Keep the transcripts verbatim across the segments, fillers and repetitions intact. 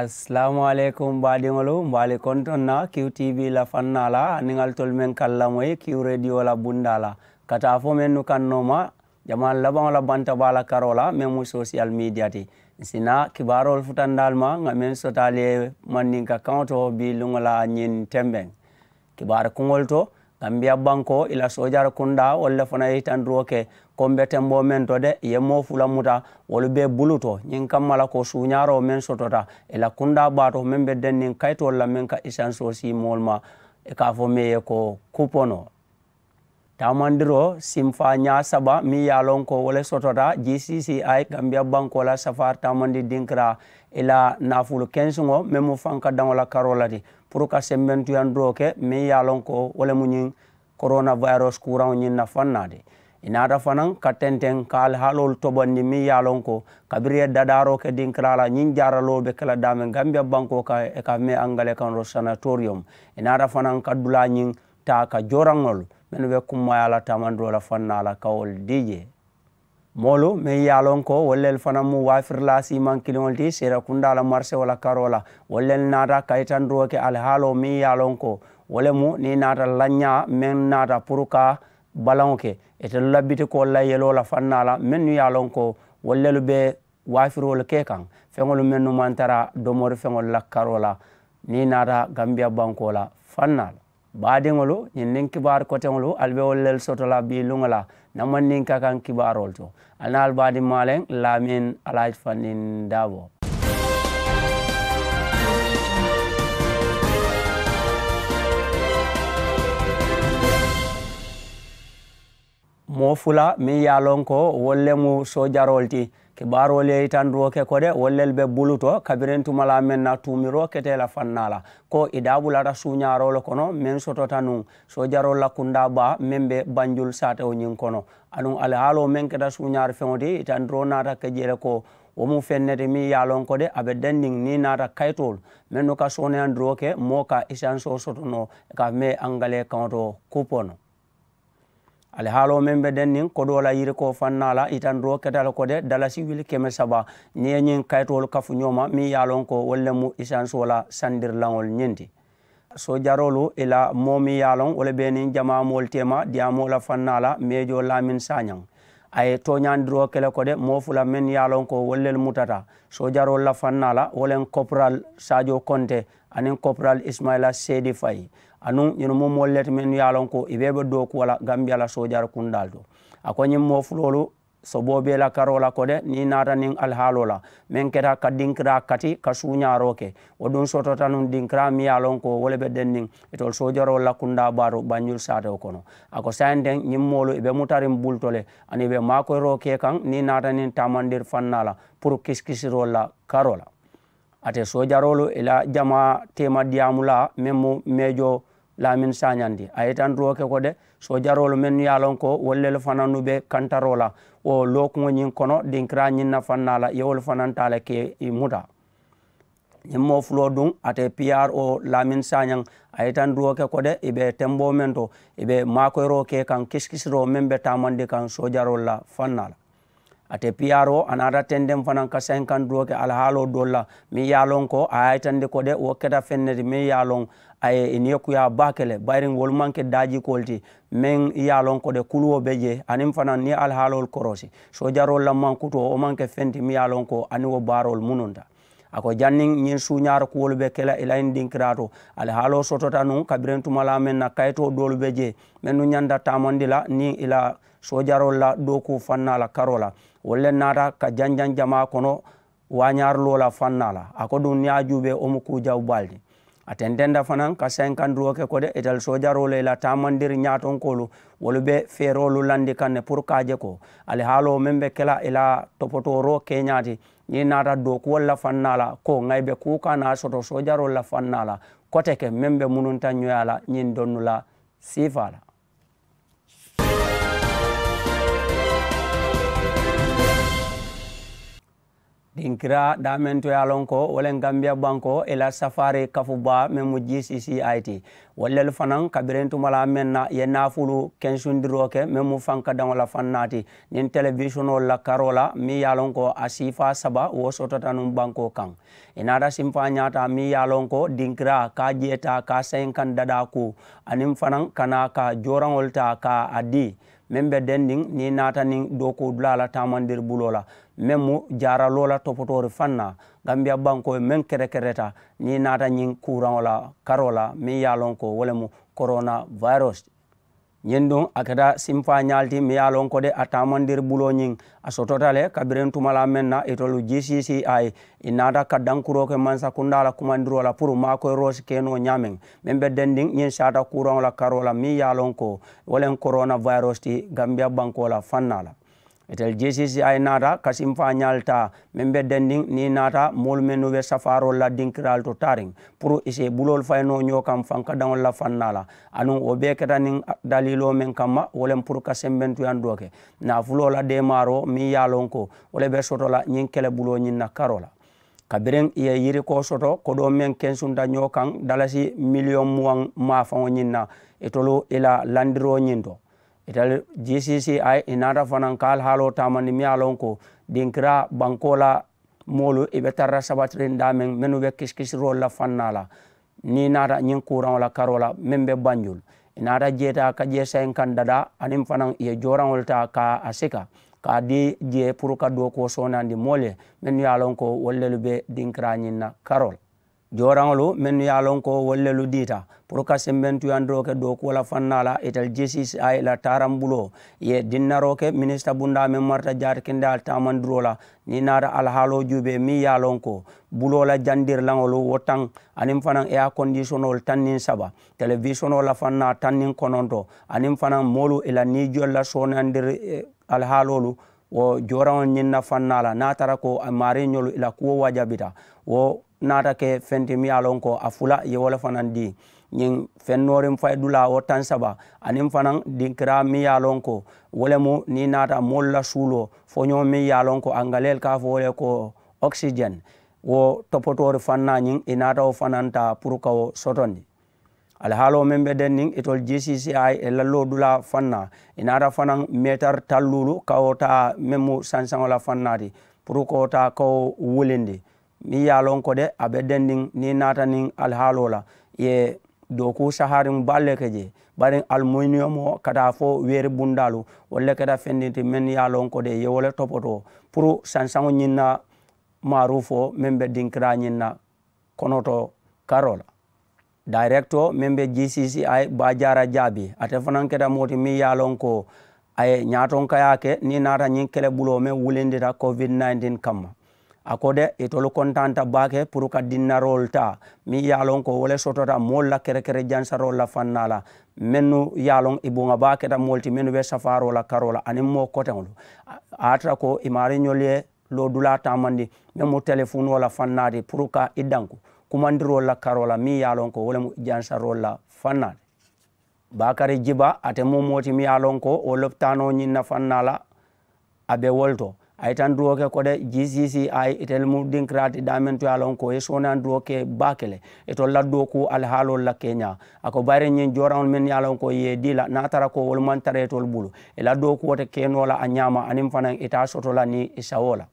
Asalaamu aleykum baadiŋolu, mbe ali kontoŋ na kiw tiibi la fannaa la aniŋ ali tolu meŋ ka ali lamoyi kiw reediyo la bundaa la, ka taa fo mennu kaŋ nooma jamaa labaŋo la banta baa la karoo la meŋ mu sosiyal miidiya ti. Ǹ si naa kibaaroolu futandi ali ma ŋà meŋ soto ali ye mandinka kaŋo to bii luŋo la ñiŋ tembeŋ. Kibaari kuŋolu to, gambiya bankoo ì la soojari kundaa wolu le fanaa ye yitandiroo ke ko m̀ be temboo meŋ to de ì ye moo fula muta wolu bee bulu to ñiŋ kamma la ko suuñaaroo meŋ sotota ì la kundaa baa to meŋ be denniŋ kayitoolu la meŋ ka isansoo sii moolu ma. Ì ka a fo meŋ ye ko kuponoo taamandiroo simfaa ñaa saba meŋ ye a loŋ ko wo le sotota g c c i gambiya bankoo la safaari taamandi dinkiraa ì la naafulu kensuŋo meŋ mu fankadaŋo la karoo la ti puru ka sembentuyandiroo ke meŋ ye a loŋ ko wo le mu ñiŋ korona wayirosi kuuraŋo ñiŋ na fannaa ti. Ì naata fanaŋ ka tenteŋ ka alihaaloolu tobondi meŋ ye a loŋ ko kabiriŋ ì ye dadaaroo ke dinkiraa la ñiŋ jaaraloo be ke la daameŋ gambiya bankoo kaŋ ì ka a fo meŋ ye angalee kaŋ to sanatoriyom. Ì naata fanaŋ ka dulaa ñiŋ taa ka jooraŋolu mennu be kummaayaa la taamandiroo la fannaa la ka wolu dii jee. Moolu meŋ ye a loŋ ko wolu lelu fanaŋ mu waafirilaa siimaŋ kiliŋolu ti seerekundaa la marisewo la karoo la wolu lelu naata kayitandiroo ke alihaaloo meŋ ye a loŋ ko wo le mu niŋ i naata lañaa meŋ naata puru ka balaŋo ke itelu la bitikoolu la yeloo la fannaa la mennu ye a loŋ ko wolu lelu be waafiroolu ke kaŋ feŋolu mennu maŋ tara domori feŋolu la karoo la. Niŋ i naata gambiya bankoo la fannaa la baadiŋolu ñiŋ niŋ kibaari koteŋolu ali be wolu lelu soto la bii luŋo la. Namandinka kaŋ kibaaroolu to ali naa ali baadiŋ maaleŋ laamin alaaji fandin daaboo. Moo fula meŋ ye a loŋ ko wolu le mu soojaroolu ti kibaaroolu ye yitandiroo ke ko de wolu lelu be bulu to kabiriŋ tumalaa meŋ na tuumiroo kete la fannaa la ko ì daabulaata suuñaaroo le kono meŋ sotota nuŋ soojaroolu la kundaa baa meŋ be banjulu saatewo ñiŋ kono aduŋ alihaaloo meŋ keta suuñaari feŋo ti yitandiroo naata ke jee le ko wo mu feŋ ne ti meŋ ye a loŋ ko de a be denniŋ niŋ i naata kayitoolu mennu ka sooneyandiroo ke moo ka isansoo soto noo ka mee angalee kaŋo to kupono. Alihaaloo meŋ be denniŋ kodoo la yirikoo fannaa la yitandiroo keta le ko de dalasi wili keme saba niŋ i ye ñiŋ kayitoolu kafu ñoo ma meŋ ye a loŋ ko wolu le mu isansoo la sandirilaŋolu ñiŋ ti. Soojaroolu i la moo meŋ ye a loŋ wo le be niŋ jamaa moolu teema diyaamoo la fannaa la meejoo laamin saañaŋ a ye tooñaandiroo ke le ko de moo fula meŋ ye a loŋ ko wolu lelu mutata soojaroolu la fannaa la wo le koporal saajoo konte aniŋ koporal isimayila seedi fayi. Anuŋ ñunu mu moolu le ti mennu ye a loŋ ko ì bee be dookuwo la gambiya la soojari kundaalu to. A ko ñiŋ moo fuloolu soboo be i la karoo la ko de niŋ i naata niŋ alihaaloo la meŋ keta ka dinkiraa kati ka suuñaaroo ke wo duŋ sotota nuŋ dinkiraa meŋ ye a loŋ ko wo le be denniŋ itolu soojaroolu la kundaa baaru banjulu saatewo kono. A ko saayiŋ teŋ ñiŋ moolu ì be mutariŋ bulu to le aniŋ ì be maakoyiroo ke kaŋ niŋ i naata niŋ taamandiri fannaa la puru kisikisiroolu la karoo la. Ate soojaroolu i la jamaa teema diyaamulaa meŋ mu meejoo laamin saañandi a ye yitandiroo ke ko de soojaroolu mennu ye a loŋ ko wolu lelu fanannu be kantaroo la wo lookuŋo ñiŋ kono dinkiraa ñiŋ na fannaa la i ye wolu fanaŋ taa le ke i muta. Ñiŋ moo fuloo duŋ ate piyaroo laamin saañaŋ a ye yitandiroo ke ko de ì be temboo meŋ to ì be maakoyiroo ke kaŋ kisikisiroo meŋ be taamandi kaŋ soojaroolu la fannaa la. Ate piyaroo a naata tendeŋ fanaŋ ka sayinkanduroo ke alihaaloo doolu la meŋ ye a loŋ ko a ye a yitandi ko de wo keta feŋ ne ti meŋ ye a loŋ a ye i niyo kuyaa baake le bayiriŋ wolu maŋ ke daajikoolu ti meŋ ye a loŋ ko de kuluwo be jee aniŋ fanaŋ niŋ i ye alihaaloolu koroosi soojaroolu la mankutoo wo maŋ ke feŋ ti meŋ ye a loŋ ko aniŋ wo baaroolu mununta. A ko janniŋ ñiŋ suuñaari kuwolu be ke la i la ñiŋ dinkiraa to alihaaloo sotota nuŋ kabiriŋ tumalaa meŋ na kayitoo doolu be jee mennu ñanta taamandi la niŋ i la soojaroolu la dookuu fannaa la karoo la wolu le naata ka janjaŋ jamaa kono waañaariloo la fannaa la a ko duŋ niŋ i ye a juubee wo mu kuu jawu baalu ti. A tententa fanaŋ ka sayinkanduroo ke ko de itelu soojaroolu i la taamandiri ñaatonkoolu wolu be feeroolu landi kaŋ ne puru ka a je ko alihaaloo meŋ be ke la i la topotooroo keeñaa ti niŋ i naata dookuwolu la fannaa la ko ŋà i be kuu ka naa soto soojaroolu la fannaa la kote ke meŋ be mununta ñoyaa la ñiŋ donnu la siifaa la. Dinkiraa daameŋ to ye a loŋ ko wo le gambiya bankoo i la safaari kafu baa meŋ mu g c c i ti. Wo lelu fanaŋ kabiriŋ tuma la meŋ na i ye naafulu kensundiroo ke meŋ mu fankadaŋo la faŋ naati niŋ telewisionoo la karoo la meŋ ye a loŋ ko a siifaa saba wo sotota nuŋ bankoo kaŋ. I naata simfaa ñaata meŋ ye a loŋ ko dinkiraa ka a jeeta ka a sayinkaŋ dadaa kuu aniŋ fanaŋ ka naa ka jooraŋolu taa ka a dii meŋ be dendiŋ niŋ i naata niŋ dookuu dulaa la taamandiri buloo la meŋ mu jaaraloo la topotoori faŋ na. Gambiya bankoo ye meŋ kerekereta niŋ i naata ñiŋ kuuraŋo la karoo la meŋ ye a loŋ ko wo le mu korona virus ti. Ñiŋ duŋ a keta simfaa ñaalu ti meŋ ye a loŋ ko de a taamandiri buloo ñiŋ a sotota le kabiriŋ tuma la meŋ na itolu g c c i i naata ka dankuroo ke mansakundaa la kumandiroo la puru maakoyiroo si ke noo ñaameŋ meŋ be dendiŋ ñiŋ saata kuuraŋo la karoo la meŋ ye a loŋ ko wo le korona virus ti gambiya bankoo la faŋ na la. Itelu g c c i naata ka simfaa ñaalu taa meŋ be dendiŋ niŋ i naata moolu mennu be safaaroolu la dinkiraalu to taariŋ puru i si i buloolu fayi noo ñoo kaŋ fankadaŋolu la faŋ na la. Aduŋ wo bee keta niŋ daliiloo meŋ kamma wo le mu puru ka sembentuyaŋ doo ke naafuloo la deemaaroo meŋ ye a loŋ ko wo le be soto la ñiŋ kelebuloo ñiŋ na karoo la. Kabiriŋ i ye yirikoo soto kodoo meŋ kensunta ñoo kaŋ dalasi miliyoŋ muwaŋ maafaŋo ñiŋ na itolu i la landiroo ñiŋ to. Itelu g c c i i naata fanaŋ ka alihaaloo taamandi meŋ ye a loŋ ko dinkiraa bankoo la moolu i be tara la sabatiriŋ daameŋ mennu be kisikisiroolu la faŋ na la. Niŋ i naata ñiŋ kuuraŋo la karoo la meŋ be banjul i naata jeeta ka jee sayinkaŋ dadaa aniŋ fanaŋ i ye jooraŋolu taa ka a sika ka a dii jee puru ka dookuwo soonandi moolu ye mennu ye a loŋ ko wolu lelu be dinkiraa ñiŋ na karoo la. Jooraŋolu mennu ye a loŋ ko wolu lelu diita puru ka sembentuyandiroo ke dookuwo la faŋ na la itelu g c c i la taaraŋ buloo i ye dinnaroo ke minisita bundaa meŋ marata jaati kendeyaa taamandiroo la. Niŋ i naata alihaaloo juubee meŋ ye a loŋ ko buloo la jandirilaŋolu wo taŋ aniŋ fanaŋ eyaa kondiisonoolu taŋ niŋ saba telewisonoo la faŋ na taŋ niŋ kononto aniŋ fanaŋ moolu i la niijolu la soonandiri alihaaloolu wo jooraŋo ñiŋ na faŋ na la niŋ a tara ko a maariiñolu i la kuwo wajabita wo naata ke feŋ ti meŋ ye a loŋ ko a fula i ye wo le fanaŋ dii. Ñiŋ feŋ nooriŋ fayi dulaa wo taŋ saba aniŋ fanaŋ dinkiraa meŋ ye a loŋ ko wo le mu niŋ i naata moolu la suuloo foñoo meŋ ye a loŋ ko angaleel ka a fo wo le ko oxygen wo topotoori faŋ na ñiŋ i naata wo fanaŋ taa puru ka wo sotondi. Alihaaloo meŋ be denniŋ itolu g c c i i la loodulaa faŋ na i naata fanaŋ meetari talluulu ka wo taa meŋ mu sansaŋo la faŋ na ti puru ka wo taa ka wo wulindi. Meŋ ye a loŋ ko de a be denniŋ niŋ i naata niŋ alihaaloo la i ye dookuu sahariŋ baalu le ke jee bari alumuniyomoo ka taa fo weeri bundaalu wolu le keta fendi ti meŋ ye a loŋ ko de i ye wo le topotoo puru sansaŋo ñiŋ na maaruufoo meŋ be dinkiraa ñiŋ na konoto karoo la. Dayirekitoo meŋ be g c c i baajaara jaabi ate fanaŋ keta moo ti meŋ ye a loŋ ko a ye ñaatonkayaa ke niŋ i naata ñiŋ kelebuloo meŋ wulindita covid nineteen kamma. A ko de itolu kontaanta baake puru ka dinnaroolu taa meŋ ye a loŋ ko wo le sotota moolu la kerekere jansaroolu la faŋ na la mennu ye a loŋ i buŋa baa keta moolu ti mennu be safaaroo la karoo la aniŋ moo koteŋolu. A ye a tara ko i maariiñolu ye loodulaa taamandi meŋ mu telefunoo la faŋ na ti puru ka i danku kumandiroolu la karoo la meŋ ye a loŋ ko wo le mu jansaroolu la faŋ na ti. Baakari jiba ate mu moo ti meŋ ye a loŋ ko wo lopitaanoo ñiŋ na faŋ na la a be wo le to. A ye tandiroo ke ko de g c c i itelu mu dinkiraa ti daameŋ to ye a loŋ ko i ye soonandiroo ke baake le itolu la dookuu alihaaloolu la keeñaa. A ko bayiri ñiŋ jooraŋolu mennu ye a loŋ ko i ye i dii la niŋ a tara ko wolu maŋ tara itolu bulu i la dookuwo te ke noo la a ñaama aniŋ fanaŋ i te a soto la niŋ i sawoo la.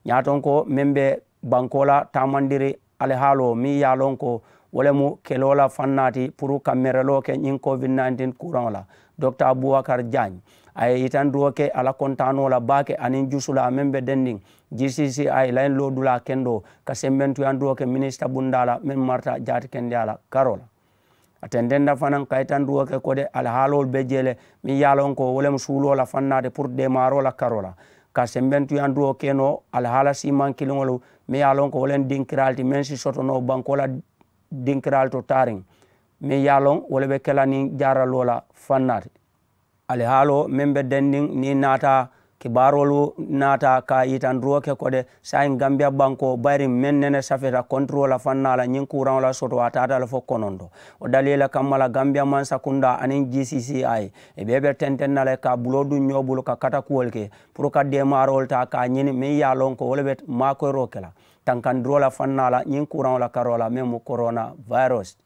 Ñaatonko meŋ be bankoo la taamandiri alihaaloo meŋ ye a loŋ ko wo le mu keloo la faŋ na ti puru ka mereloo ke ñiŋ covid nineteen kuuraŋo la. Dokita abubakar jaañ a ye yitandiroo ke a la kontaanoo la baake aniŋ jusulaa meŋ be dendiŋ g c c i la ñiŋ loodulaa kendoo ka sembentuyandiroo ke minisita bundaa la meŋ marata jaati kendeyaa la karoo la. A tententa fanaŋ ka yitandiroo ke ko de alihaaloolu be jee le meŋ ye a loŋ ko wo le mu suuloo la faŋ na ti puru deemaaroo la karoo la ka sembentuyandiroo ke noo alihaala siimaŋ kiliŋolu meŋ ye a loŋ ko wo le mu dinkiraalu ti meŋ si soto noo bankoo la dinkiraalu to taariŋ meŋ ye a loŋ wo le be ke la niŋ jaaraloo la faŋ na ti. Alihaaloo meŋ be dendiŋ niŋ i naata Kibaaroolu naata ka yitandiroo ke ko de saayiŋ gambiya bankoo bayiriŋ meŋ nene safeeta kontiroo la faŋ naa la ñiŋ kuuraŋo la soto a taata le fo kononto. Wo daliila kamma la gambiya mansakundaa aniŋ g c c i i bee be tenteŋ na le ka a buloo duŋ ñoo bulu ka katakuwolu ke puru ka deemaaroolu taa ka a ñini meŋ ye a loŋ ko wo le be maakoyiroo ke la tankandiroo la faŋ naa la ñiŋ kuuraŋo la karoo la meŋ mu korona virus.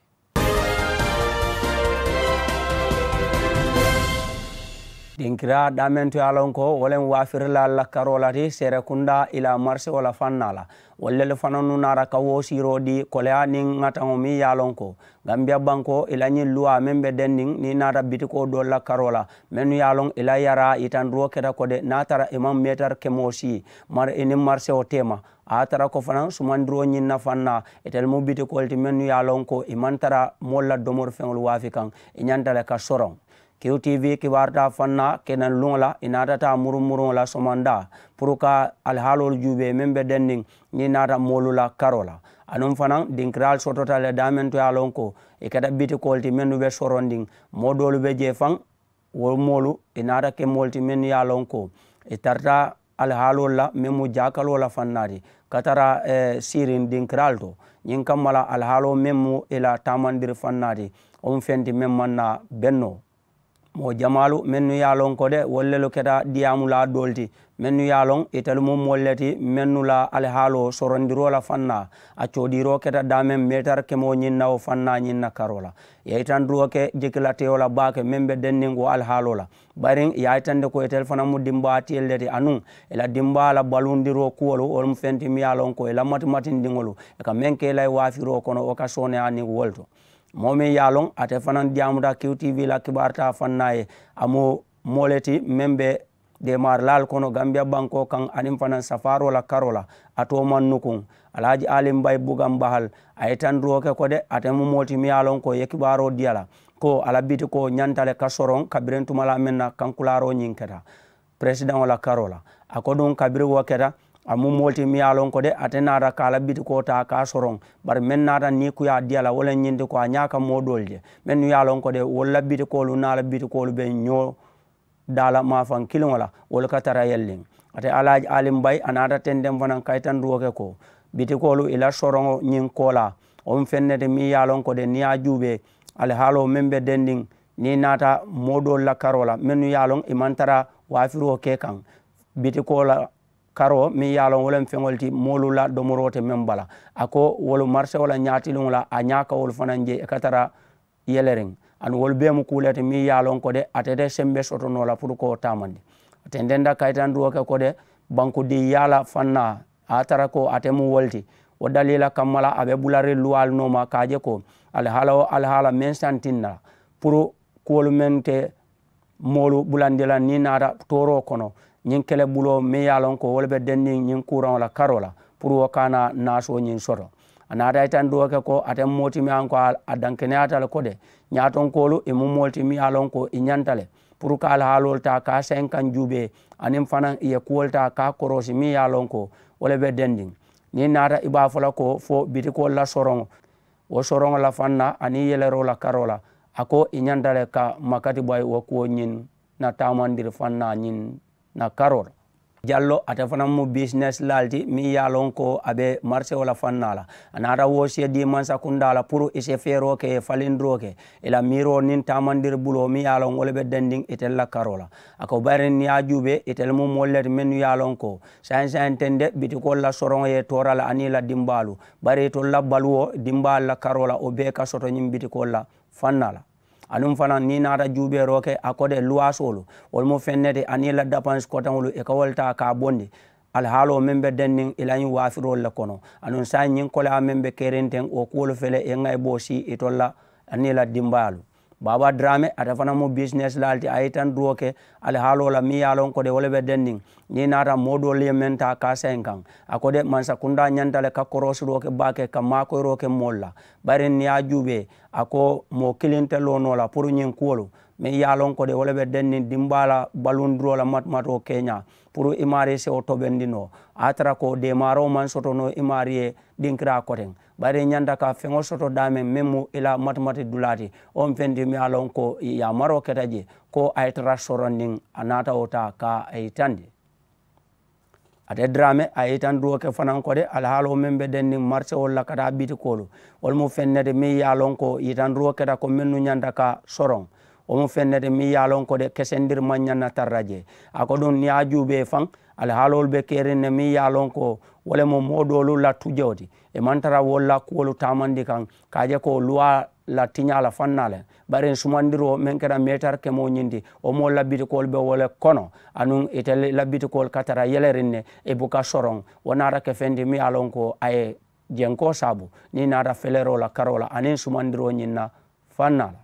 Dinkiraa daameŋ to ye a loŋ ko wo le mu waafirilaalu la karoo la ti seerekundaa i la marisewo la faŋ naa la. Wolu lelu fanannu naata ka wo siiroo dii koleyaa niŋ ŋataŋo meŋ ye a loŋ ko gambiya bankoo i la ñiŋ luwaa meŋ be denniŋ niŋ i naata bitikoo doolu la karoo la mennu ye a loŋ i la yaraa yitandiroo keta ko de niŋ a tara i maŋ meetari kemoo sii mari i niŋ marisewo teema. A ye a tara ko fanaŋ sumandiroo ñiŋ na faŋ naa itelu mu bitikoolu ti mennu ye a loŋ ko i maŋ tara moolu la domori feŋolu waafi kaŋ. I ñanta le ka soroŋ. Q t v kibaaru taa faŋ naa keneŋ luŋo la i naata taa murumuruŋo la somandaa puru ka alihaaloolu juubee meŋ be denniŋ niŋ i naata moolu la karoo la. Anuŋ fanaŋ dinkiraalu sotota le daameŋ to ye a loŋ ko i keta bitikoolu ti mennu be sorondiŋ. Moo doolu be jee faŋ wo moolu i naata ke moolu ti mennu ye a loŋ ko i tarata alihaaloolu la meŋ mu jaakaloo la faŋ naa ti ka tara siiriŋ dinkiraalu to. Ñiŋ kamma la alihaaloo meŋ mu i la taamandiri faŋ naa ti wo mu feŋ ti meŋ maŋ naa bennoo. Moo jamaalu mennu ye a loŋ ko de wolu lelu keta diyaamulaa doolu ti mennu ye a loŋ itelu mu moolu le ti mennu la alihaaloo sorondiroo la faŋ naa. A coodiiroo keta daameŋ meetari kemoo ñiŋ na wo faŋ naa ñiŋ na karoo la. Ye yitandiroo ke jikilateyo la baake meŋ be denniŋ wo alihaaloo la. Bari ì ye a yitandi ko itelu fanaŋ mu dimbaatiyolu le ti anuŋ ì la dimbaa la baluundiroo kuwolu wolu mu feŋ ti miŋ ye a loŋ ko ì la matimatindiŋolu ì ka meŋ ke ì la ì waafiroo kono wo ka sooneyaa niŋ wolu to. Moo meŋ ye a loŋ ate fanaŋ diyaamuta q t v la kibaaru taa faŋ naa ye a mu moo le ti meŋ be deemaarilaalu kono gambiya bankoo kaŋ aniŋ fanaŋ safaaroo la karoo la. A too maŋ nukuŋ. Alhaji alimbayi bugaŋ bahal a ye tandiroo ke ko de ate mu moo ti miŋ ye a loŋ ko i ye kibaaroo dii a la ko a la bitikoo ñanta le ka soroŋ kabiriŋ tumalaa meŋ na kankulaaroo ñiŋ keta peresidaŋo la karoo la. A ko duŋ kabiriŋ wo keta a mu moo ti miŋ ye a loŋ ko de ate naata ka a la bitikoo taa ka a soroŋ. Bari meŋ naata niŋ kuyaa dii a la wo le ñiŋ ti ko a ñaa ka moo doolu je mennu ye a loŋ ko de wolu la bitikoolu niŋ a la bitikoolu be ñoo daa la maafaŋ kiliŋo la wolu ka tara yelliŋ. Ate alaaji alimbayi a naata tenteŋ fanaŋ kayitandiwoo ke ko bitikoolu ì la soroŋo ñiŋ koolaa wo mu feŋ ne ti meŋ ye a loŋ ko de niŋ ye a juubee alihaaloo meŋ be dendiŋ niŋ ì naata moo doolu la karoo la mennu ye a loŋ ì maŋ tara waafiroo ke kaŋ. Bitikoo la karoo meŋ ye a loŋ wo le mu feŋolu ti moolu la domoroo te meŋ bala. A ko wolu marisewo la ñaatiliŋo la a ñaa ka wolu fanaŋ je ì ka tara yeleriŋ. Aduŋ wolu bee mu kuu le ti meŋ ye a loŋ ko de ate te sembe soto noo la puru ka wo taamandi. A tententa kayitandiwoo ke ko de bankudiŋ yaala faŋ naa a ye a tara ko ate mu wo le ti. Wo daliila kamma la a be bulariŋ luwaalu nooma ka a je ko alihaala wo alihaala meŋ santiŋ na la puru kuwolu meŋ te moolu bulandi la niŋ ì naata tooroo kono ñiŋ kele buloo meŋ ye a loŋ ko wo le be denniŋ ñiŋ kuuraŋo la karoo la puru wo ka a naa naasoo ñiŋ soto. A naata yitandi wo ke ko ate mu moo ti meŋ ye a loŋ ko a dankeneyaata le ko de ñaatonkoolu ì mu moolu ti meŋ ye a loŋ ko ì ñanta le puru ka alihaaloolu taa ka a sayiŋ kaŋ juubee aniŋ fanaŋ ì ye kuwolu taa ka a koroosi meŋ ye a loŋ ko wo le be dendiŋ. Niŋ ì naata ì be a fo la ko fo bitikoolu la soroŋo wo soroŋo la faŋ na aniŋ yeleroo la karoo la a ko ì ñanta le ka makati bayi wo kuwo ñiŋ na taamandiri faŋ na ñiŋ na karoo la. Jallo ate fanaŋ mu bisinesilaalu ti meŋ ye a loŋ ko a be marisewo la faŋ na la a naata woosiye dii mansakundaa la puru ì si feeroo ke ì ye falindiroo ke ì la miiroo niŋ taamandiri buloo meŋ ye a loŋ wo le be dendiŋ itelu la karoo la. A ko bayiriŋ niŋ ye a juubee itelu mu moolu le ti mennu ye a loŋ ko saayiŋ saayiŋ teŋ de bitikoolu la soroŋo ye ì toora le aniŋ ì la dimbaalu bari itolu la baluwo dimbaalu la karoo la wo bee ka soto ñiŋ bitikoolu la faŋ na la. Aduŋ fanaŋ niŋ ì naata juubeeroo ke a ko de luwaasoolu wolu mu feŋ ne ti aniŋ ì la dapansi koteŋolu ì ka wolu taa ka a bondi alihaaloo meŋ be denniŋ ì la ñiŋ waafiroolu le kono. Aduŋ saayiŋ ñiŋ koleyaa meŋ be keriŋ teŋ wo kuwolu fele ì ye ŋayiboo sii itolu la aniŋ ì la dimbayaalu. Baaba daraame ate fanaŋ mu bisinesilaalu ti a ye yitandiroo ke alihaaloo la meŋ ye a loŋ ko de wo le be denniŋ. Niŋ ì naata moo doolu ye meŋ taa ka a sayiŋ kaŋ a ko de mansakundaa ñanta le ka koroosiroo ke baake ka maakoyiroo ke moolu la. Bari niŋ ye a juubee a ko moo kiliŋ te loo noo la puru ñiŋ kuwolu meŋ ye a loŋ ko de wo le be denniŋ dimbaa la balundiroo la matumatoo keeñaa puru i maarii sewo tobendi noo a ye a tara ko deemaaroo maŋ soto noo i maarii ye dinkiraa koteŋ. Bari i ñanta ka feŋo soto daameŋ meŋ mu i la matimati dulaa ti wo mu feŋ ti meŋ ye a loŋ ko yaamaroo keta je ko a ye tara sorondiŋ a naata wo taa ka a yitandi. Ate diraame a ye yitandiroo ke fanaŋ ko de alihaaloo meŋ be denniŋ marisewolu la ka taa bitikoolu, wolu mu feŋ ne ti meŋ ye a loŋ ko yitandiroo keta ko mennu ñanta ka soroŋ. Wo mu feŋ ne ti meŋ ye a loŋ ko de kesendiri maŋ ñaŋ na tara jee. A ko duŋ niŋ i ye a juubee faŋ, alihaaloolu be keriŋ ne meŋ ye a loŋ ko wo le mu moo doolu la tujewo ti. I maŋ tara wolu la kuwolu taamandi kaŋ ka a je ko luwaa la tiñaa la faŋ naa le. Bari sumandiroo meŋ keta meetari kemoo ñiŋ ti, wo moolu la bitikoolu be wo le kono. Anuŋ itelu la bitikoolu ka tara yeleriŋ ne i buka soroŋ. Wo naata ke feŋ ti meŋ ye a loŋ ko a ye jenkoo saabu niŋ i naata feleroo la karoo la aniŋ sumandiroo ñiŋ na faŋ naa la.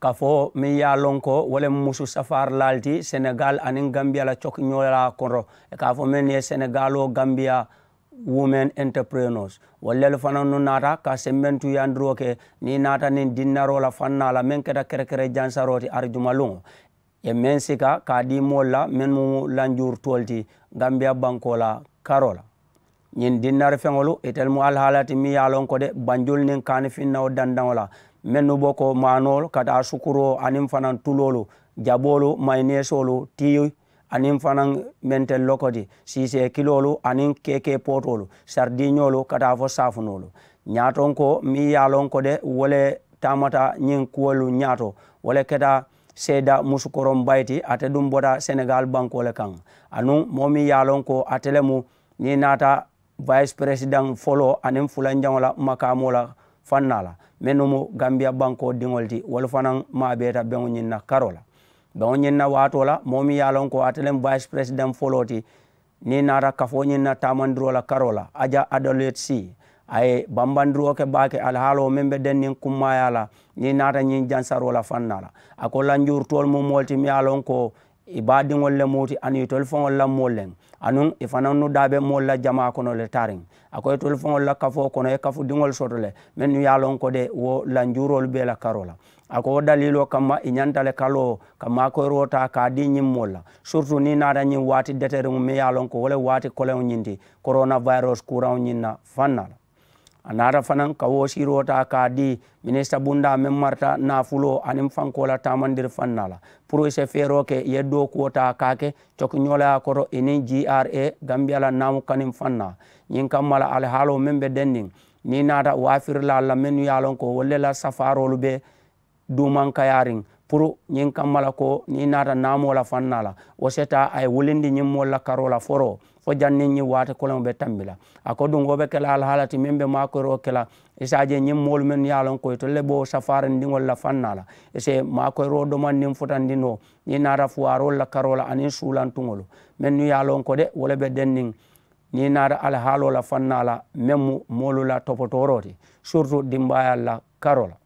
Kafoo meŋ ye a loŋ ko wo le mu musu safaarilaalu ti senegaali aniŋ gambiya la cokiñoolaa kono, i ka a fo meŋ ye senegaaloo gambiya women entrepreneurs, wolu lelu fanannu naata ka sembentuyandiroo ke niŋ i naata niŋ dinnaroo la faŋ naa la meŋ keta kerekere jansaroo ti arijumaluŋo. Ye meŋ sika ka a dii moolu la mennu mu lanjuurutoolu ti gambiya bankoo la karoo la. Ñiŋ dinnari feŋolu itelu mu alihaala ti meŋ ye a loŋ ko de banjulu niŋ kaanifinnawo dandaŋo la, mennu bo ko maanoolu ka taa sukuroo aniŋ fanaŋ tuloolu, jaboolu, mayineesoolu, tii aniŋ fanaŋ mentel lokoti, siisee kiloolu aniŋ keekee pootoolu, saridiiñoolu ka taa fo saafunoolu. Ñaatonkoo meŋ ye a loŋ ko de wo le taamata ñiŋ kuwolu ñaato, wo le keta seeda musukoroŋ bayi ti, ate duŋ bota senegaali bankoo le kaŋ. Anuŋ moo meŋ ye a loŋ ko ate le mu niŋ i naata vayisi peresidaŋ foloo aniŋ fulanjaŋo la makaamoo la faŋ naa la, mennu mu gambiya bankoo diŋolu ti, wolu fanaŋ maabeeta beŋo ñiŋ na karoo la. Beŋo ñiŋ na waatoo la moo meŋ ye a loŋ ko ate le mu vayisi peresidaŋ foloo ti, niŋ i naata kafoo ñiŋ na taamandiroo la karoo la aja adoleti sii, a ye bambandiroo ke baake alihaaloo meŋ be denniŋ kummaayaa la niŋ i naata ñiŋ jansaroo la faŋ naa la. A ko lanjuurutoolu mu moolu ti meŋ ye a loŋ ko i baadiŋolu le mu ti aniŋ itolu faŋolu la moolu le, anuŋ i fanannu daa be moolu la jamaa kono le taariŋ. A ko itolu faŋolu la kafoo kono i ye kafudiŋolu soto le mennu ye a loŋ ko de wo lanjuuroolu bee la karoo la. A ko wo daliiloo kamma i ñanta le ka loo ka maakoyiroo taa ka a dii ñiŋ moolu la, siritu niŋ i naata ñiŋ waati deteriŋo meŋ ye a loŋ ko wo le waati koleŋo ñiŋ ti, korona vayirosi kuuraŋo ñiŋ na faŋ naa la. A naata fanaŋ ka wo siiroo taa ka a dii minisita bundaa meŋ marata naafuloo aniŋ fankoo la taamandiri faŋ naa la, puru i si feeroo ke i ye dookuwo taa ka a ke cokiñoolaa koto i niŋ g r a gambiya la naamu kaniŋ faŋ naa. Ñiŋ kamma la alihaaloo meŋ be denniŋ niŋ i naata waafirilaalu la mennu ye a loŋ ko wolu le la safaaroolu be duumankayaariŋ puru ñiŋ kamma la ko niŋ i naata naamoo la faŋ naa la, wo si taa a ye wulindi ñiŋ moolu la karoo la foroo fo janniŋ ñiŋ waati koleŋo be tambi la. A ko duŋ wo be ke la alihaala ti meŋ be maakoyiroo ke la, i si a je ñiŋ moolu mennu ye a loŋ ko itolu le be wo safaarindiŋolu la faŋ naa la, i si maakoyiroo domandiŋ futandiŋ noo niŋ i naata fuwaaroolu la karoo la aniŋ suulantuŋolu mennu ye a loŋ ko de wo le be denniŋ niŋ i naata alihaaloo la faŋ naa la meŋ mu moolu la topotooroo ti, siritu dimbaayaalu la karoo la.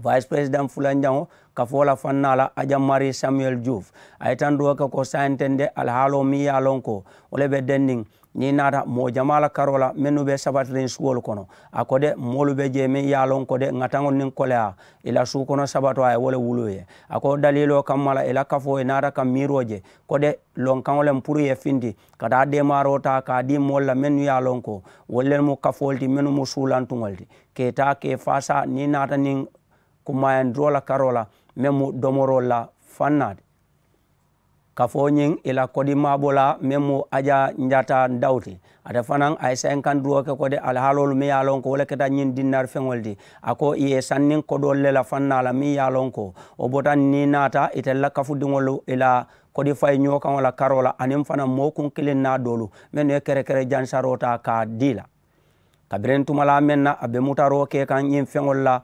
Vayisi peresidaŋ fulanjaŋo kafoo la faŋ naa la aja mari samuyeli juuf, a ye tantuwo ke ko saayiŋ tende alihaaloo meŋ ye a loŋ ko wo le be denniŋ niŋ i naata moo jamaa la karoo la mennu be sabatiriŋ suwolu kono. A ko de moolu be jee meŋ ye a loŋ ko de ŋataŋolu niŋ koleyaa i la suu kono sabatoo a ye wo le wuluu ye. A ko daliiloo kamma la i la kafoo i naata ka miiroo je ko de lonkaŋo le mu puru i ye finti ka taa deemaaroo taa ka a dii moolu la mennu ye a loŋ ko wolu le mu kafoolu ti mennu mu suulantuŋolu ti, ka i taa ka i faasaa niŋ i naata niŋ kummaayandiroo la karoo la meŋ mu domoroolu la faŋ naa ti. Kafoo ñiŋ i la kodi maabolaa meŋ mu aja njata ndaw ti, ate fanaŋ a ye saayiŋ kandiroo ke ko de alihaaloolu meŋ ye a loŋ ko wo le keta ñiŋ dinnari feŋolu ti. A ko i ye sanniŋ kodoolu le la faŋ naa la meŋ ye a loŋ ko wo bota niŋ i naata itelu la kafudiŋolu i la kodi fayi ñoo kaŋo la karoo la aniŋ fanaŋ moo kuŋ kiliŋ naa doolu mennu ye kerekere jansaroo taa ka a dii la. Kabiriŋ tumalaa meŋ na a be mutaroo ke kaŋ ñiŋ feŋolu la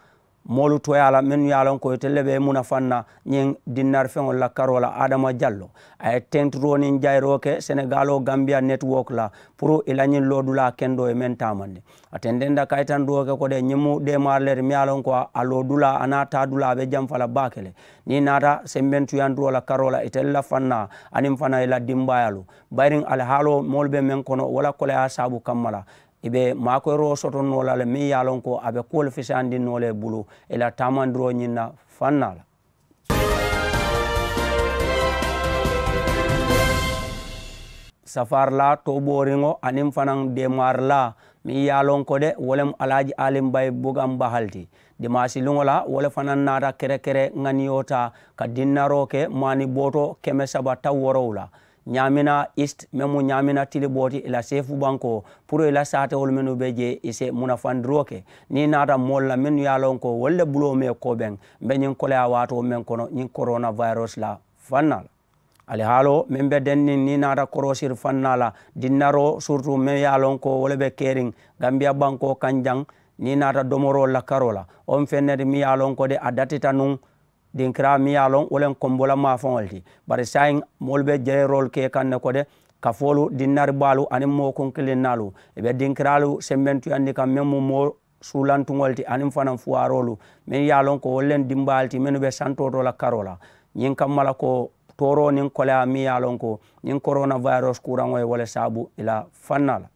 moolu tooyaa la mennu ye a loŋ ko itelu le be i munafaŋ na ñiŋ dinnari feŋolu la karoo la adama jallo, a ye tentiroo niŋ jayiroo ke senegaaloo gambiya netiwook la puru i la ñiŋ loodulaa kendoo ye meŋ taamandi. A tententa kayitandiroo ke ko de ñiŋ mu deemaari le ti meŋ ye a loŋ ko a loodulaa a niŋ a taadulaa a be jamfa la baake le. Niŋ i naata sembentuyandiroo la karoo la itelu la faŋ na aniŋ fanaŋ i la dimbaayaalu, bayiriŋ alihaaloo moolu be meŋ kono wo la koleyaa saabu kamma la i be maakoyiroo soto noo la le meŋ ye a loŋ ko a be kuwolu fisayandi noo le bulu i la taamandiroo ñiŋ na faŋ naa la. Safaarilaa toobooriŋo aniŋ fanaŋ deemaarilaa Meŋ ye a loŋ ko de wo le mu alaaji alimbayi bugaŋ bahali ti. Dimaasi luŋo la wo le fanaŋ naata kerekere ŋaniyo taa ka dinnaroo ke maani bootoo keme saba taŋ worowu la ñaamina ist meŋ mu ñaamina tiliboo ti i la seefu bankoo puru i la saatewolu mennu be jee i si munafandiroo ke. Niŋ i naata moolu la mennu ye a loŋ ko wolu le buloo mee koobeŋ mbe ñiŋ koleyaa waatoo meŋ kono ñiŋ korona vayirosi la fannaa la. Alihaaloo meŋ be denniŋ niŋ i naata koroosiri fannaa la dinnaroo siritu meŋ ye a loŋ ko wo le be keriŋ gambiya bankoo kaŋ jaŋ. Niŋ i naata domoroolu la karoo la wo mu feŋ ne ti meŋ ye a loŋ ko de a datita nuŋ dinkiraa meŋ ye a loŋ wo le mu kombo la maafaŋo le ti. Bari saayiŋ moolu be jeeroolu ke kaŋ ne ko de kafoolu dinnari baalu aniŋ moo kunkilinnaalu i be dinkiraalu sembentuyandi kaŋ meŋ mu moo suulantuŋolu ti aniŋ fanaŋ fuwaaroolu meŋ ye a loŋ ko wolu le mu dimbaayaalu ti mennu be santoo to la karoo la. Ñiŋ kamma la ko tooroo niŋ koleyaa meŋ ye a loŋ ko ñiŋ korona vayirosi kuuraŋo ye wo le saabu i la fannaa la.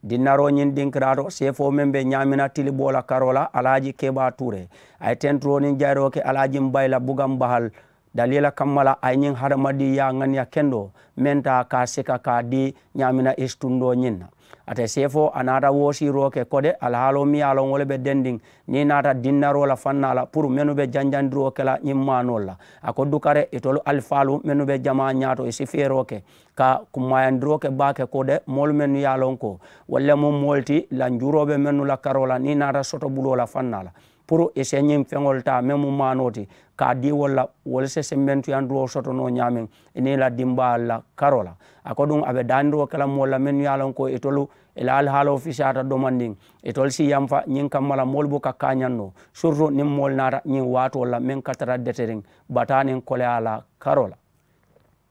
Dinnaroo ñiŋ dinkiraato seefoo meŋ be ñaamina tiliboo la karoo la alaaji kebaa tuuree a ye tenturoo niŋ jayiroo ke alaaji mbayi la bugaŋ bahali daliila kamma la a ye ñiŋ hadamadiŋyaa ŋaniya kendoo meŋ taa ka a sika ka a dii ñaamina isitundoo ñiŋ na. Ate seefoo a naata woosiiroo ke ko de alihaaloo miŋ ye a loŋ wo le be dendiŋ niŋ i naata dinnaroo la fannaa la puru mennu be janjandiroo ke la ñiŋ maanoolu la. A ko dukare itolu alifaalu mennu be jamaa ñaato i si feeroo ke ka kummaayandiroo ke baake ko de moolu mennu ye a loŋ ko wolu le mu moolu ti lanjuuroo be mennu la karoo la niŋ i naata sotobuloo la fannaa la puru i si ñiŋ feŋolu taa meŋ mu maanoo ti ka a dii wolu la wolu si sembentuyandiroo soto noo ñaameŋ i niŋ i la dimbaalu la karoo la. A ko duŋ a be daandiroo ke la moolu la mennu ye a loŋ ko itolu i la alihaaloo fisaata domandiŋ itolu si yanfa ñiŋ kamma la moolu buka kaañaŋ noo siritu niŋ moolu naata ñiŋ waatoolu la meŋ ka tara deteriŋ bataa niŋ koleyaa la karoo la.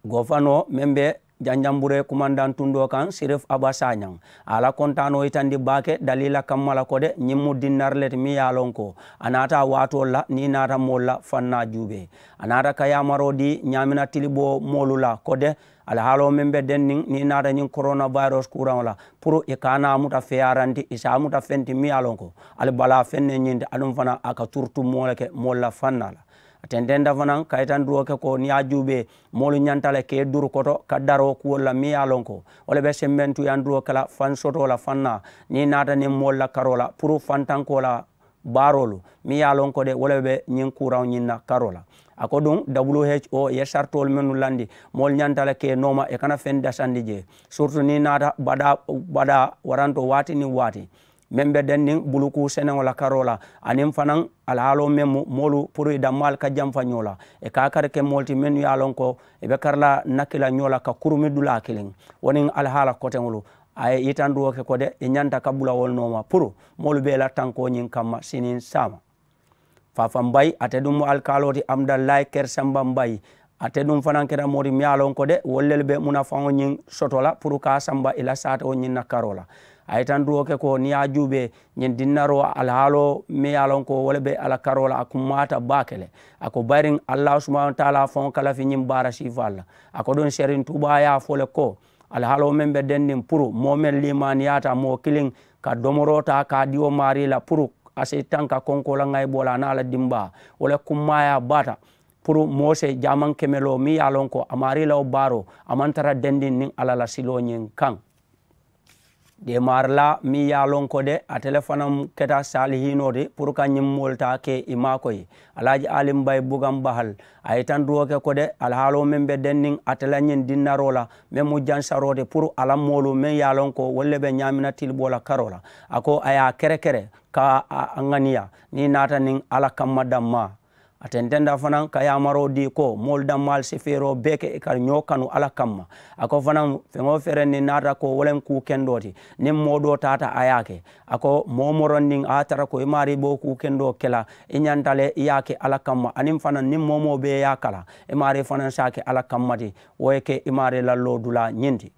Gofanoo meŋ be janjamburee kumandaŋ tundoo kaŋ sirif aba saañaŋ a la kontaanoo yitandi baake daliila kamma la ko de ñiŋ mu dinnari le ti meŋ ye a loŋ ko a naata a waatoolu la niŋ i naata moolu la fannaa juubee. A naata ka yaamaroo dii ñaamina tiliboo moolu la ko de alihaaloo meŋ be denniŋ niŋ i naata ñiŋ korona vayirosi kuuraŋo la puru i ka a naa muta feeyaaranti i si a muta feŋ ti meŋ ye a loŋ ko ali balaa feŋ ne ñiŋ ti aduŋ fanaa a ka turutu moo le ke moolu la fannaa la. A tententa fanaŋ ka yitandiroo ke ko niŋ i ye a juubee moolu ñanta le ka i duru koto ka daroo kuwolu la meŋ ye a loŋ ko wo le be sembentuyandiroo ke la faŋ sotoo la faŋ na niŋ i naata niŋ moolu la karoo la puru fantankoo la baaroolu meŋ ye a loŋ ko de wo le be ñiŋ kuuraŋo ñiŋ na karoo la. A ko duŋ who ye saritoolu mennu landi moolu ñanta le ka i nooma i kana feŋ dasandi jee siritu niŋ i naata badaa badaa waranto waati niŋ waati meŋ be denniŋ bulukuu seneŋo la karoo la aniŋ fanaŋ alihaaloo meŋ mu moolu puru i dammaalu ka jamfa ñoo la i ka a kari ke moolu ti mennu ye a loŋ ko i be kari la naki la ñoo la ka kurumi dulaa kiliŋ. Wo niŋ alihaala koteŋolu a ye yitandiroo ke ko de i ñanta ka bula wolu nooma puru moolu be i la tankoo ñiŋ kamma siniŋ saama. Faafan bayi ate duŋ mu alikaaloo ti amudallaayi keri samba mbayi ate duŋ fanaŋ keta moo ti meŋ ye a loŋ ko de wolu lelu be munafaŋo ñiŋ soto la puru ka a samba i la saatewo ñiŋ na karoo la. A ye tantuwo ke ko niŋ i ye a juubee ñiŋ dinnaroo alihaaloo meŋ ye a loŋ ko wo le be a la karoo la a kummaata baake le. A ko bayiriŋ allaahu subahanahu wataalaa faŋo ka lafi ñiŋ baara siifaalu la. A ko duŋ seriŋ tuubaa ye a fo le ko alihaaloo meŋ be dendiŋ puru moo meŋ liimaaniyaata moo kiliŋ ka domoroo taa ka a dii wo maarii la puru a si tanka konkoo la ŋayiboo la a niŋ a la dimbaa wo le kummaayaa baata. Puru moo se jaamaŋ kemeloo meŋ ye a loŋ ko a maarii la wo baaroo a maŋ tara dendiŋ niŋ alla la siloo ñiŋ kaŋ. Deemaarilaa meŋ ye a loŋ ko de ate le fanaŋ keta saalihiinoo ti puru ka ñiŋ moolu taa ke i maakoyi. Alaaji alimbayi bugaŋ bahal a ye tantuwo ke ko de alihaaloo meŋ be denniŋ ate la ñiŋ dinnaroo la meŋ mu jansaroo ti puru a la moolu meŋ ye a loŋ ko wolu le be ñaamina tiliboo la karoo la. A ko a ye a kerekere ka a ŋaniya niŋ i naata niŋ alla kamma dammaa. A tententa fanaŋ ka yaamaroo dii ko moolu dammaalu si feeroo bee ke i ka ñoo kanu alla kamma. A ko fanaŋ feŋ wo feŋ niŋ naata ko wo le mu kuu kendoo ti niŋ moo doo taata a ye a ke. A ko moo morondiŋ a ye a tara ko i maarii be wo kuu kendoo ke la i ñanta le i ye a ke alla kamma aniŋ fanaŋ niŋ moo moo be i ye a kala i maarii fanaŋ si a ke alla kamma ti. Wo ye ke i maarii la loodulaa ñiŋ ti.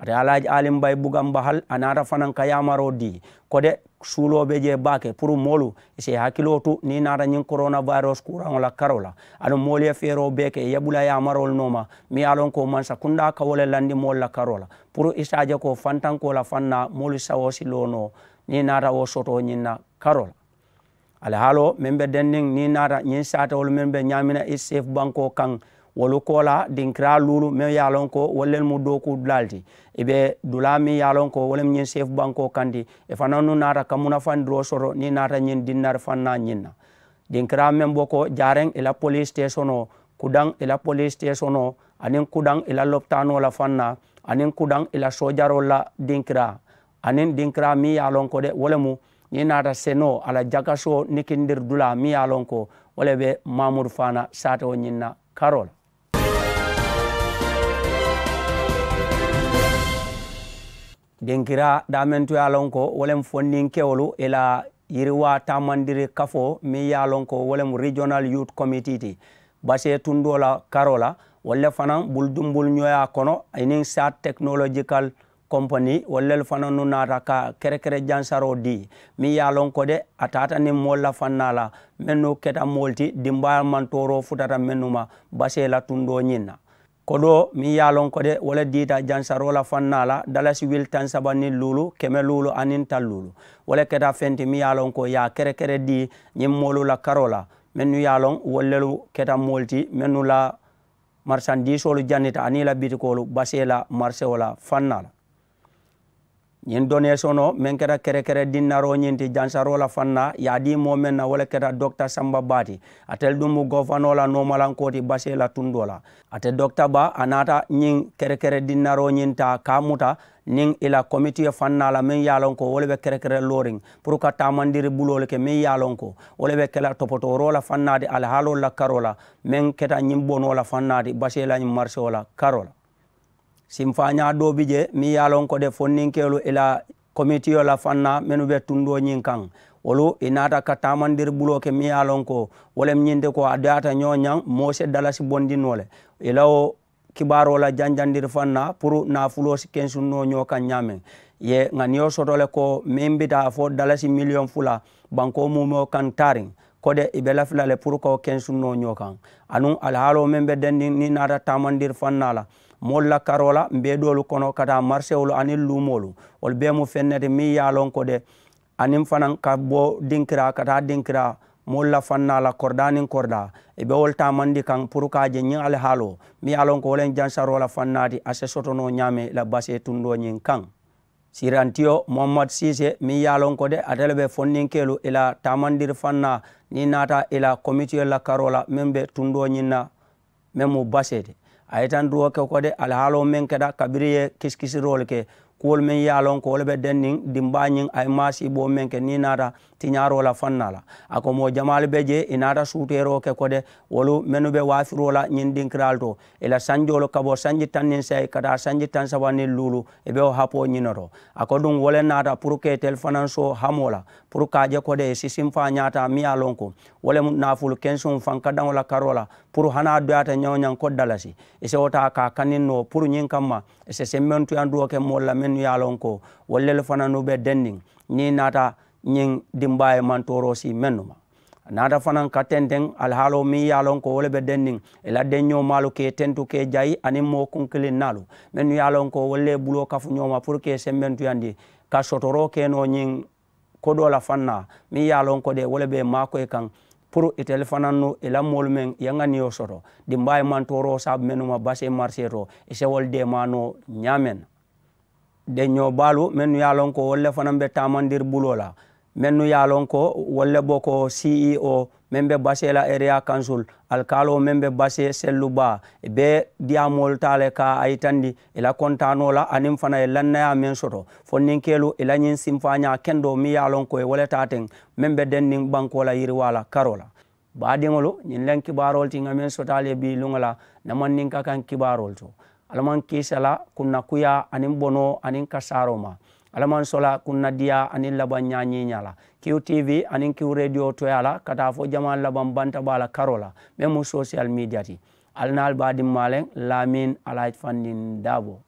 Ate alaaji alimbayi bugaŋ bahal a naata fanaŋ ka yaamaroo dii ko de suuloo be jee baake puru moolu i si i hakiloo tu niŋ i naata ñiŋ korona vayirosi kuuraŋo la karoo la. Aduŋ moolu ye feeroo bee ke i ye bula yaamaroolu nooma meŋ ye a loŋ ko mansa kundaa ka wo le landi moolu la karoo la puru i si a je ko fantankoo la fannaa moolu sawoo si loo noo niŋ i naata wo sotoo ñiŋ na karoo la. Alihaaloo meŋ be denniŋ niŋ i naata ñiŋ saatewolu meŋ be ñaamina i seefu bankoo kaŋ Wolu koolaa dinkiraa luulu meŋ ye a loŋ ko wolu lelu mu dookuudulaalu ti. Ì be dulaa meŋ ye a loŋ ko wo le mu ñiŋ seefu bankoo kaŋ ti. Ì fanannu naata ka munafandiroo soto niŋ ì naata ñiŋ dinnari fannaa ñiŋ na. Dinkiraa meŋ bo ko jaareŋ ì la poliisi teesonoo, kudaŋ ì la poliisi teesonoo, aniŋ kudaŋ ì la lopitaanoo la fannaa, aniŋ kudaŋ ì la soojaroolu la dinkiraa, aniŋ dinkiraa meŋ ye a loŋ ko de wo le mu niŋ ì naata senoo a la jakasoo nikindiri dulaa meŋ ye a loŋ ko wo le be maamudu faana saatewo ñiŋ na karoo la. Dinkiraa daamantu ye a loŋ ko wo le mu fondinkewolu ì la yiriwaa taamandiri kafoo meŋ ye a loŋ ko wo le mu regional youth committee ti basee tundoo la karoo la. Wolu le fanaŋ bulu dumbulu ñooyaa kono aniŋ saat tekinolojikal kompani wolu lelu fanannu naata ka kerekere jansaroo dii meŋ ye a loŋ ko de a taata niŋ moolu la fannaa la mennu keta moolu ti dimbaayaa mantooroo futata mennu ma basee la tundoo ñiŋ na. Kodoo meŋ ye a loŋ ko de wo le diita jansaroo la fannaa la dalasi wili taŋ saba niŋ luulu keme luulu aniŋ taŋ luulu. Wo le keta feŋ ti meŋ ye a loŋ ko ì ye a kerekere dii ñiŋ moolu la karoo la mennu ye a loŋ wolu lelu keta moolu ti mennu la marisandiisoolu janita aniŋ ì la bitikoolu basee la marisewo la fannaa la. Ñiŋ doneesonoo meŋ keta kerekere dinnaroo ñiŋ ti jansaroo la fannaa ì ye a dii moo meŋ na wo le keta dokita samba baa ti. Ate le duŋ mu gofanoo la noomalankoo ti basee la tundoo la. Ate dokita baa a naata ñiŋ kerekere dinnaroo ñiŋ taa ka a muta niŋ ì la komitiyo fannaa la meŋ ye a loŋ ko wo le be kerekere looriŋ puru ka taamandiri buloolu ke meŋ ye a loŋ ko wo le be ke la topotooroo la fannaa ti alihaaloolu la karoo la meŋ keta ñiŋ bonoo la fannaa ti basee la ñiŋ marisewo la karoo la. Simfaañaa doo bi jee meŋ ye a loŋ ko de fonninkeelu ì la komitiyo la fannaa mennu be tundoo ñiŋ kaŋ wolu ì naata ka taamandiri buloo ke meŋ ye a loŋ ko wo le mu ñiŋ ti ko a doyaata ñoo ñaŋ moo se dalasi bondi noo le ì la wo kibaaroo la janjandiri fannaa puru naafuloo si kensuŋ noo ñoo kaŋ ñaameŋ. Ì ye ŋaniyo soto le ko meŋ bi taa fo dalasi miliyoŋ fula bankoo muumewo kaŋ taariŋ ko de ì be lafi la le puru ka wo kensuŋ noo ñoo kaŋ. Anuŋ alihaaloo meŋ be dendiŋ niŋ ì naata taamandiri fannaa la moolu la karoo la mbeedoolu kono ka taa marisewolu aniŋ luumoolu wolu bee mu feŋ ne ti meŋ ye a loŋ ko de aniŋ fanaŋ ka bo dinkiraa ka taa dinkiraa moolu la fannaa la koridaa niŋ koridaa ì be wolu taamandi kaŋ puru ka a je ñiŋ alihaaloo meŋ ye a loŋ ko wo le ye jansaroo la fannaa ti a si soto noo ñaameŋ ì la basee tundoo ñiŋ kaŋ. Siirantiyo muhammad siise meŋ ye a loŋ ko de ate le be fondinkeelu ì la taamandiri fannaa niŋ ì naata ì la komitiyo la karoo la meŋ be tundoo ñiŋ na meŋ mu basee ti. A ye tantuwo ke ko de alihaaloo meŋ keta kabiriŋ ì ye kisikisiroolu ke kuwolu meŋ ye a loŋ ko wo le be denniŋ dimbaa ñiŋ a ye maasiiboo meŋ ke niŋ ì naata tiñaaroo la fannaa la. A ko moo jamaalu be jee ì naata suuteeroo ke ko de wolu mennu be waafiroo la ñiŋ dinkiraalu to ì la sanjoolu ka bo sanji taŋ niŋ sayi ka taa sanji taŋ saba niŋ luulu ì be wo hapoo ñiŋ ne to. A ko duŋ wo le naata puru ka itelu fanaŋ soo hamoo la puru ka a je ko de ì si simfaa ñaataa meŋ ye a loŋ ko wo le mu naafulu kensuŋo fankadaŋo la karoo la puru hani a doyaata ñaŋ-wo-ñaŋ ko dalasi ì si wo taa ka a kaniŋ noo puru ñiŋ kamma ì si sembentuyandiroo ke moolu la mennu ye a loŋ ko wolu lelu fananu be denniŋ niŋ ì naata ñiŋ dimbaa ye mantooroo sii mennu ma. A naata fanaŋ ka tenteŋ alihaaloo meŋ ye a loŋ ko wo le be denniŋ ì la denñoomaalu ka ì tentu ka ì jayi aniŋ moo kunkilinnaalu mennu ye a loŋ ko wolu le ye buloo kafu ñoo ma puru ka ì sembentuyandi ka sotoroo ke noo ñiŋ kodoo la fannaa meŋ ye a loŋ ko de wo le be ì maakoyi kaŋ puru itelu fanannu ì la moolu meŋ ì ye ŋaniyo soto dimbaa ye mantooroo saabu mennu ma basee marisee to ì si wolu deemaa noo ñaameŋ na. Denñoo baalu mennu ye a loŋ ko wolu le fanaŋ be taamandiri buloo la mennu ye a loŋ ko wolu le bo ko ceo meŋ be basee la eriyaa kansul alikaaloo meŋ be basee sellu baa ì be diyaamoolu taa le ka a yitandi ì la kontaanoo la aniŋ fanaŋ ì ye lannayaa meŋ soto fondinkeelu ì la ñiŋ simfaañaa kendoo meŋ ye a loŋ ko ì wo le taa teŋ meŋ be denniŋ bankoo la yiriwaa la karoo la. Baadiŋolu ñiŋ leŋ kibaaroolu ti ŋa meŋ soto ali ye bii luŋo la namandinka kaŋ kibaaroolu to. Alla maŋ kiisa la kunna kuyaa aniŋ bonoo aniŋ kasaaroo ma. Alla maŋ sola kunna diyaa aniŋ labaŋ ñaañiiñaa la kiw tv aniŋ kiw rediyo toyaa la ka taa fo jamaa labaŋ banta baa la karoo la meŋ mu sosiyal midiya ti. Alla naali baadiŋ maaleŋ laamiin alaaji fandiŋ daaboo.